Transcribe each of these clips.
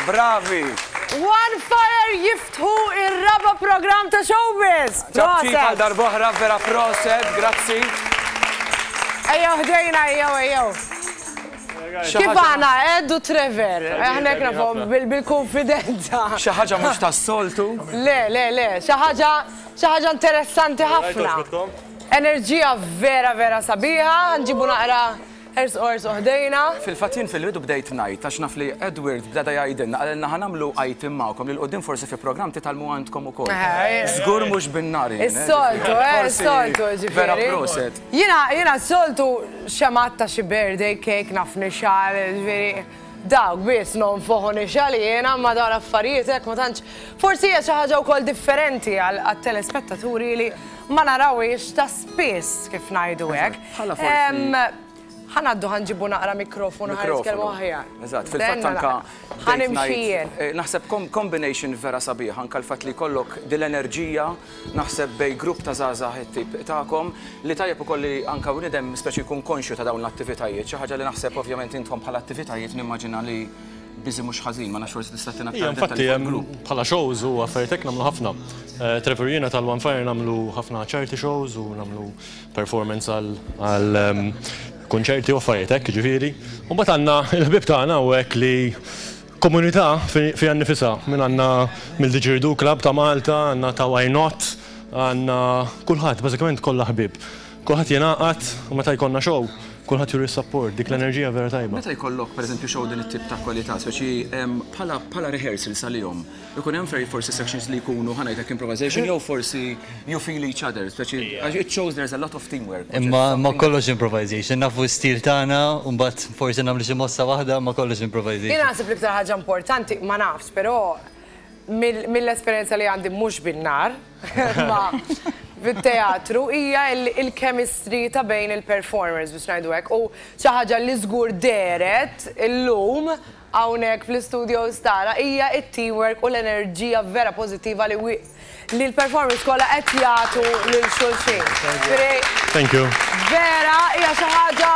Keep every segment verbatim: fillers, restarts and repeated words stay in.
Bravi! One Fire jiftħu ir-raba program ta' Showbiz! Ċapċip għal darb'oħra, vera proset, grazzi. Ejjew ħdejna, ejjew, ejjew. Kif għana, Ed u Trevor, aħna nafhom bil-konfidenza. Xi ħaġa mhux tas-soltu. Le, le, le, xi ħaġa xi ħaġa interessanti ħafna. Enerġija vera, vera sabiħa, nġibu naqra ers ors ħdejna. Fil-fatt jien fil-bidu bdejt ngħid għax naf li Edward beda jgħidilna qalilna ħa nagħmlu item magħkom li 'l quddiem forsi fi programm titgħallmu għandkom ukoll. Żgur mhux bin-nar jien, eh, Is-soltu, eh, forsi is-soltu, ġifieri. Vera proset. Jiena, jiena s-soltu xemat ta' xi birthday cake naf nixgħal, ġifieri, dawk biss nonfoħu nixgħal jiena ma dawn l-affarijiet hekk ma tantx. Forsi hija xi ħaġa wkoll differenti għal għat-telespettaturi li ma narawhiex ta' spiss kif ngħidu hekk. Bħala forsi. Em, Ħa ngħaddu ħa nġibu naqra mikrofonu ħa nitkellmu aħjar. Eżatt, fil-fatt Denna anka naqra. Ħa nimxi jien. Eh, Naħseb kom combination vera sabiħ, anka l-fatt li jkollok dil-enerġija, naħseb bejn grupp ta' żgħażagħ it-tip tagħkom li tajjeb ukoll li anka bniedem speċi jkun konxju ta' dawn l-attivitajiet, xi ħaġa li naħseb ovvjament intom bħala attivitajiet nimmaġina li biżi mhux ħażin, ma nafx forsi tista' tina Ija, aktar infatti, dettalji fuq hemm il-grupp. bħala shows u affarijiet hekk nagħmlu ħafna. Eh, Trevor jiena tal-One Fire nagħmlu ħafna charity shows u nagħmlu performance għal għal, ehm, konċerti u affarijiet hekk, ġifieri. U mbagħad għandna il-ħbieb tagħna u hekk li komunità fi- fiha nnifisha minn għandna mill-Didgeridoo Club ta' Malta, għandna ta' Why Not, għandna kulħadd, bażikament kollha ħbieb. Kulħadd jingħaqad u meta jkollna show, Kulħadd juri support, dik l-enerġija vera tajba. Meta jkollok pereżempju show din it-tip ta' kwalità, speċi em, bħala bħala rehearsal sal-jum, ikun hemm fejn forsi sections li jkunu, ħa ngħidlek, improvisation jew forsi you feel each other, speċi għax it shows there's a lot of teamwork. Which is Imma ma something- kollox improvisation, nafu stil tagħna, u mbagħad forsi nagħmlu xi mossa waħda, ma kollox improvisation. Jien naħseb l-iktar ħaġa importanti, ma nafx, però mill- mill-esperjenza li għandi mhux bin-nar, ma fit-teatru, hija il- il-chemistry ta' bejn il-performers, biex ngħidu hekk. U xi ħaġa li żgur dehret illum hawnhekk fl-studios tara hija it-teamwork u l-enerġija vera pożittiva li wi- li l-performers kollha qed jagħtu lil xulxin. Ġifieri, Thank you. vera, hija xi ħaġa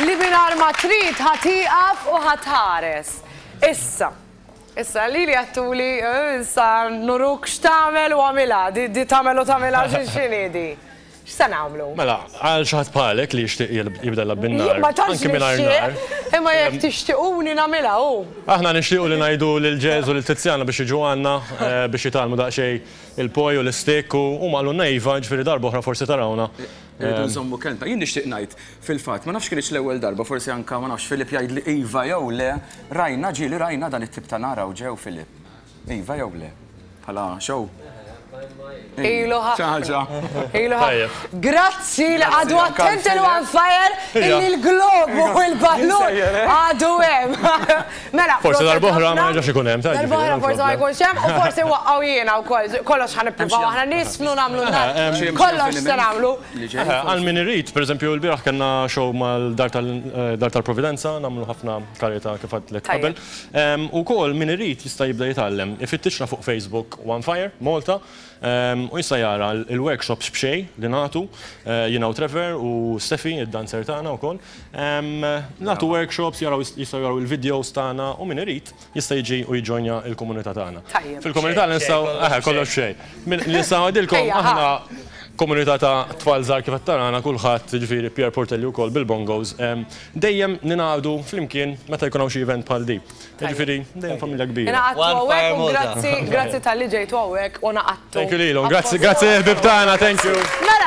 li mingħajr ma trid ħa tieqaf u ħa tħares. Issa, issa li li għedtuli, eh, issa nuruk x'tagħmel u għamilha, di, di tagħmel u tagħmilha x'inhi di. X'se nagħmlu? Mela, għal xi ħadd bħalek li jixtieq jibda jilgħab bin-nar, Ma tantx anke mingħajr nar. nixtieq, imma jekk tixtiequni nagħmilha hu. Aħna nixtiequ li ngħidu lil Jazz u lil Tiziana biex jiġu għandna eh, biex jitgħallmu daqsxejn il-poi u l-stick u u qalulna iva, ġifieri darba oħra forsi tarawna. Irridu nżommu kelma. Jien nixtieq ngħid fil-fatt, ma nafx kienx l-ewwel darba, forsi anka ma nafx Filip jgħid li iva jew le, rajna ġieli rajna dan it-tip ta' nara u ġew Filip. Iva jew le. Bħala show. Ilu Xi ħaġa. Ilu ħafna. Tajjeb. Grazzi li għadu anka attenti l-Filip. l-One Fire illi l-globu u l-ballun Jinsejjer, eh? għadu hemm. Mela, Forsi proset darb'oħra ma ħafna. jerġax ikun hemm, ta' ġifieri, Darb'oħra no forsi ma problem. jkunx hemm u forsi waqqgħu jiena wkoll. Kollox ħa nippruvaw aħna nisfnu nagħmlu nar. Xi Kollox se nagħmlu. Li ġej. Eh, għal min irid, per eżempju, l-bieraħ kellna show mal-Dar tal- eh, tal-Providenza, nagħmlu ħafna karita kif għedtlek Tajjeb. qabel. Em, U kol min irid jista' jibda jitgħallem. Ifittixna fuq Facebook One Fire, Malta, em, u jista' jara il-workshops b'xejn li nagħtu, eh, jiena u Trevor u Steffi, id-dancer tagħna wkoll. Em, Nagħtu workshops, jaraw jistgħu jaraw il-videos tagħna u min irid jista' jiġi u jiġġojnja il-komunità tagħna. Tajjeb. Fil-komunità li nistgħu, eh, kollox xejn. Min- Li nistgħu ngħidilkom Ejja, ħa. aħna komunità ta' tfal żgħar kif qed tarana kulħadd, ġifieri Pierre Portelli wkoll bil-bongos, em, dejjem ningħaqdu flimkien meta jkun hawn xi event bħal di. Ġifieri dejjem familja kbira. Ingħaqadtu One hawnhekk Fire u Malta. grazzi, grazzi talli ġejtu hawnhekk u ngħaqadtu. Thank you lilhom. Grazzi, grazzi ħbib tagħna, thank you. Mela,